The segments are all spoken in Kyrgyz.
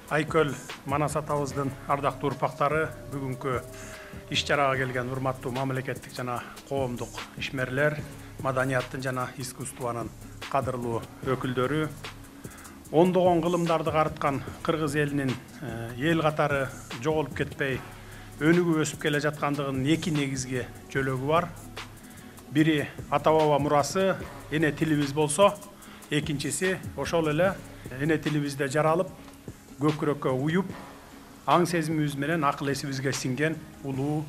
Айкөл Манас атабыздын ардактуу урпактары бүгүнкү иш-чарага келген урматтуу мамлекеттик жана коомдук ишмерлер, маданияттын жана искусствонун кадырлуу өкүлдөрү, ондогон кылымдарды карыткан кыргыз элинин эл катары жоголуп кетпей өнүгүп өсүп келе жаткандыгынын эки негизги жөлөгү бар. Бири ата баба мурасы, эне тилибиз болсо, экинчиси ошол эле эне тилибизде жаралып, көкүрөккө уюп, аң сезимибиз менен акыл эсибизге сиңген улуу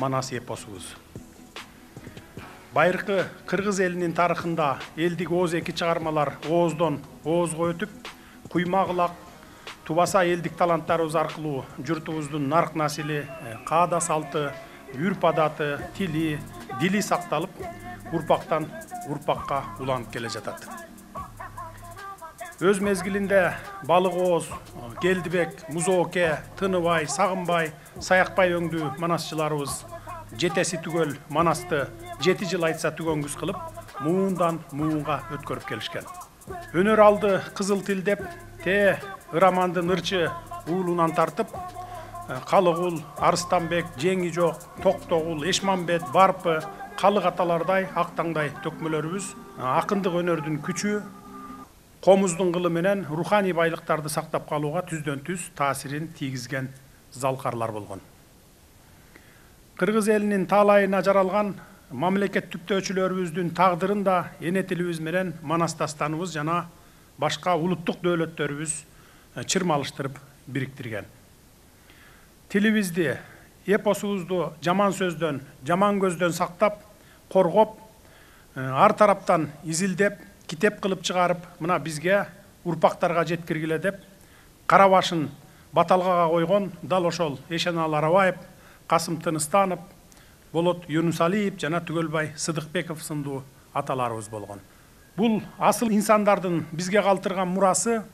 Манас эпосубуз. Байыркы кыргыз элинин тарыхында элдик ооз эки чыгармалар ооздон оозго өтүп, куйма-кылак, тубаса элдик таланттарыбыз аркылуу журтубуздун нарк насили, каада салты, үрп адаты, дили сакталып, урпактан урпакка уланып келе жатат. Өз мезгилинде балык ооз, Келдибек, Музооке, Тыныбай, Сагынбай, Саякбай өңдүү манасчыларыбыз жетеси түгөл Манасты 7 жыл айтса түгөнгүс кылып, муундан муунга өткөрүп келишкен. Өнөр алды кызыл тил деп, ырамандын ырчы уулунан тартып, Калыгул, Арыстанбек, Жеңи жок, Токтогул, Эшмамбет, Барпы, Калык аталардай актаңдай төкмөлөрүбүз акындык өнөрдүн күчү, комуздун кылы менен руханий байлыктарды сактап калууга түздөн түз таасирин тийгизген залкарлар болгон. Кыргыз элинин таалайына жаралган мамлекеттиктөөчүлөрүбүздүн тагдырын да эне тилибиз менен Манас дастаныбыз жана башка улуттук дөөлөттөрүбүз чырмалыштырып бириктирген. Тилибизди, эпосубузду жаман сөздөн, жаман көздөн сактап, коргоп, ар тараптан изилдеп, китеп кылып чыгарып, мына бизге урпактарга жеткиргиле деп, кара башын баталгага койгон дал ошол Эшеналы Арабаев, Касым Тыныстанов, Болот Юнусалиев жана Түгөлбай Сыдыкбеков сындуу аталарыбыз болгон. Бул асыл инсандардын бизге калтырган мурасы,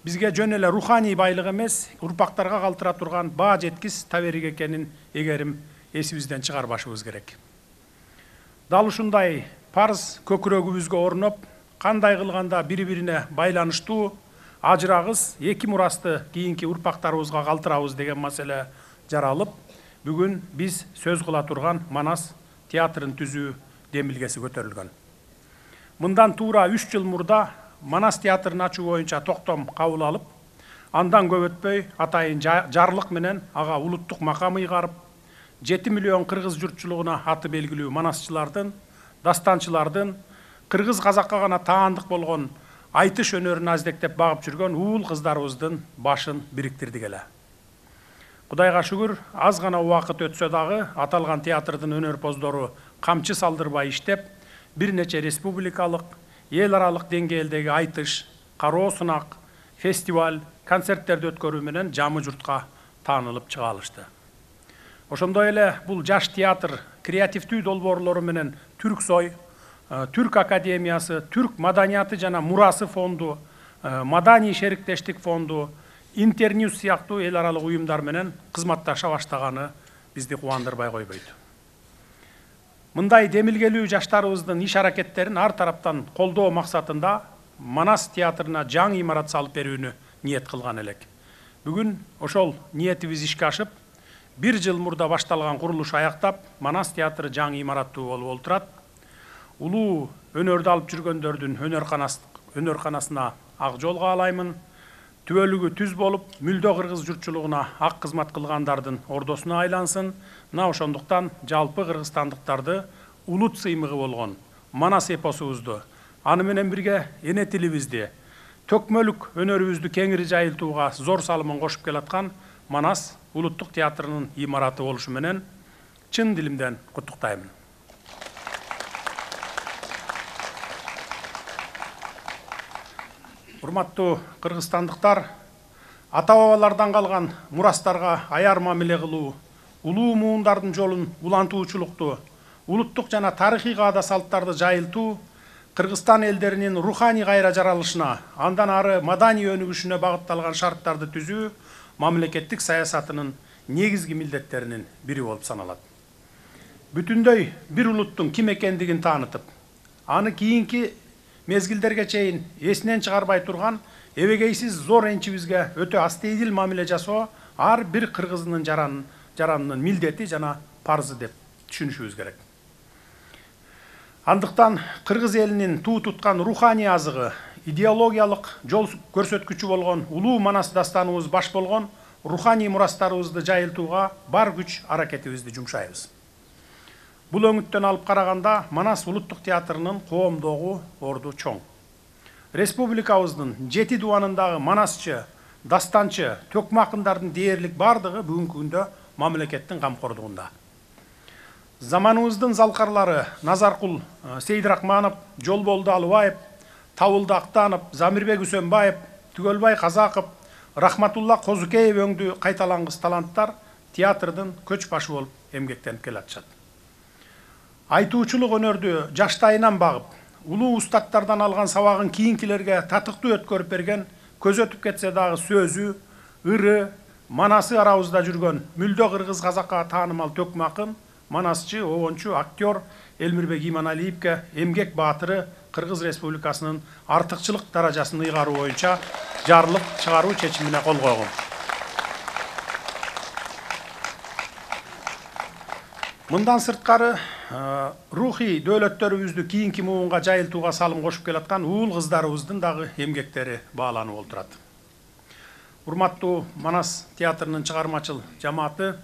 бизге жөн эле руханий байлык эмес, урпактарга калтыра турган баа жеткис таберик экенин эгерим эсибизден чыгарбашыбыз керек. Дал ушундай парыз көкүрөгүбүзгө орноп, кандай кылганда бири-бирине байланыштуу, ажырагыс эки мурасты кийинки урпактарыбызга калтырабыз деген маселе жаралып, бүгүн биз сөз кыла турган Манас театрын түзүү демилгеси көтөрүлгөн. Мындан туура 3 жыл мурда Манас театрын ачуу боюнча токтом кабыл алып, андан көп өтпөй атайын жарлык менен ага улуттук макам ыйгарып, 7 миллион кыргыз журтчулугуна аты белгилүү манасчылардын, дастанчылардын, кыргыз казакка гана таандык болгон айтыш өнөрүн аздектеп багып жүргөн уул кыздарыбыздын башын бириктирдик эле. Кудайга шүгүр, аз гана убакыт өтсө дагы аталган театрдын өнөрпоздору камчы салдырбай иштеп, бир нече республикалык, эл аралык деңгээлдеги айтыш, кароо сынак, фестиваль, концерттерди өткөрүү менен жамы журтка таанылып чыга алышты. Ошондой эле бул жаш театр креативдүү долбоорлору менен Түрксой, Түрк академиясы, Түрк маданияты жана мурасы фонду, Маданий шериктештик фонду, Интерньюз сыяктуу эл аралык уюмдар менен кызматташа баштаганы бизди кубандырбай койбойт. Мындай демилгелүү жаштарыбыздын иш аракеттерин ар тараптан колдоо максатында Манас театрына жаңы имарат салып берүүнү ниет кылган элек. Бүгүн ошол ниетибиз ишке ашып, 1 жыл мурда башталган курулуш аяктап, Манас театры жаңы имараттуу болуп олтурат. Улуу өнөрдү алып жүргөндөрдүн өнөрканасына ак жол каалаймын. Түбөлүгү түз болуп, мүлдө кыргыз журтчулугуна ак кызмат кылгандардын ордосуна айлансын. Мына ошондуктан жалпы кыргызстандыктарды улут сыймыгы болгон Манас эпосубузду, аны менен бирге эне тилибизди, төкмөлүк өнөрүбүздү кеңири жайылтууга зор салымын кошуп келаткан Манас улуттук театрынын имараты болушу менен чын дилимден куттуктаймын. Урматтуу кыргызстандыктар, ата-бабалардан калган мурастарга аяр мамиле кылуу, улуу муундардын жолун улантуучулукту, улуттук жана тарыхый каада салттарды жайылтуу Кыргызстан элдеринин руханий кайра жаралышына, андан ары маданий өнүгүшүнө багытталган шарттарды түзүү мамлекеттик саясатынын негизги милдеттеринин бири болуп саналат. Бүтүндөй бир улуттун ким экендигин таанытып, аны кийинки мезгилдерге чейин эсинен чыгарбай турган эбегейсиз зор энчибизге өтө астейдил мамиле жасоо ар бир кыргыздын жаранынын милдети жана парзы деп түшүнүшүбүз керек. Андыктан кыргыз элинин туу туткан руханий азыгы, идеологиялык жол көрсөткүчү болгон улуу Манас дастаныбыз баш болгон руханий мурастарыбызды жайылтууга бар күч аракетибизди жумшайбыз. Бул өңүттөн алып караганда Манас улуттук театрынын коомдогу орду чоң. Республикабыздын 7 дубанындагы манасчы, дастанчы, төкмө акындардын дээрлик бардыгы бүгүнкү күндө мамлекеттин камкордугунда. Заманыбыздын залкарлары Назаркул Сейдрахманов, Жолболду Алыбаев, Табылды Актанов, Замирбек Үсөнбаев, Түгөлбай Казаков, Рахматулла Козукеев өңдүү кайталангыс таланттар театрдын көч башы болуп эмгектенип келатышат. Айтуучулук өнөрдү жаштайынан багып, улуу устаттардан алган сабагын кийинкилерге татыктуу өткөрүп берген, көз өтүп кетсе дагы сөзү, ыры, манасы арабызда жүргөн мүлдө кыргыз казакка таанымал төкмө акын, манасчы, обончу, актер Элмирбек Иманалиевке эмгек баатыры Кыргыз Республикасынын артыкчылык даражасын ыйгаруу боюнча жарлык чыгаруу чечимине кол койгон. Мындан сырткары рухий дөөлөттөрүбүздү кийинки муунга жайылтууга салым кошуп келаткан уул кыздарыбыздын дагы эмгектери бааланып отурат. Урматтуу Манас театрынын чыгармачыл жамааты,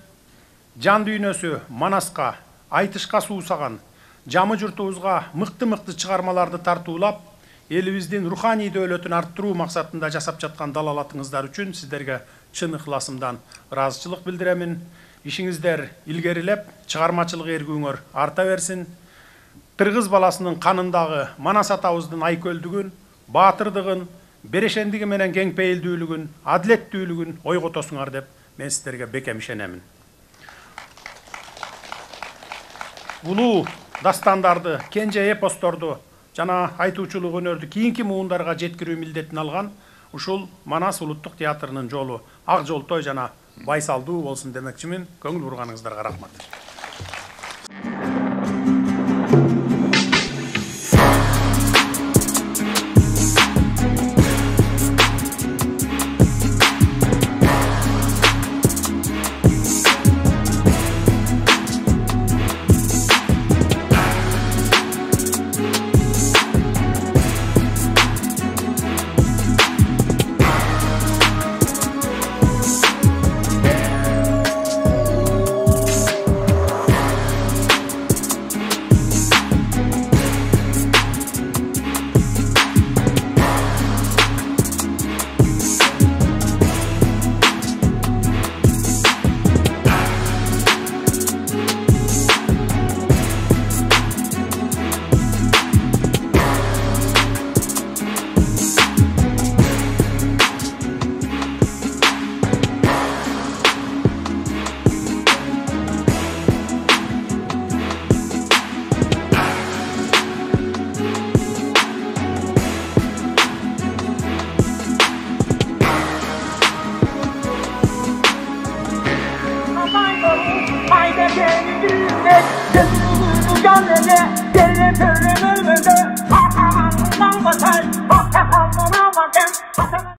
жан дүйнөсү Манаска, айтышка суусаган, жамы журтубузга мыкты чыгармаларды тартуулап, элибиздин руханий дөөлөтүн арттыруу максатында жасап жаткан далалатыңыздар үчүн сиздерге чын ыхласымдан ыраазычылык билдиремин. Ишиңиздер илгерилеп, чыгармачылык эргүүңөр арта берсин. Кыргыз баласынын канындагы Манас атабыздын айкөлдүгүн, баатырдыгын, берешендиги менен кеңпейилдүүлүгүн, адилеттүүлүгүн ойготосуңар деп мен сиздерге бекем ишенемин. Улуу дастандарды, кенже эпосторду жана айтуучулук өнөрдү кийинки муундарга жеткирүү милдетин алган ушул Манас улуттук театрынын жолу ак жолтой жана байсалдуу болсун демекчимин. Көңүл бурганыңыздарга рахмат.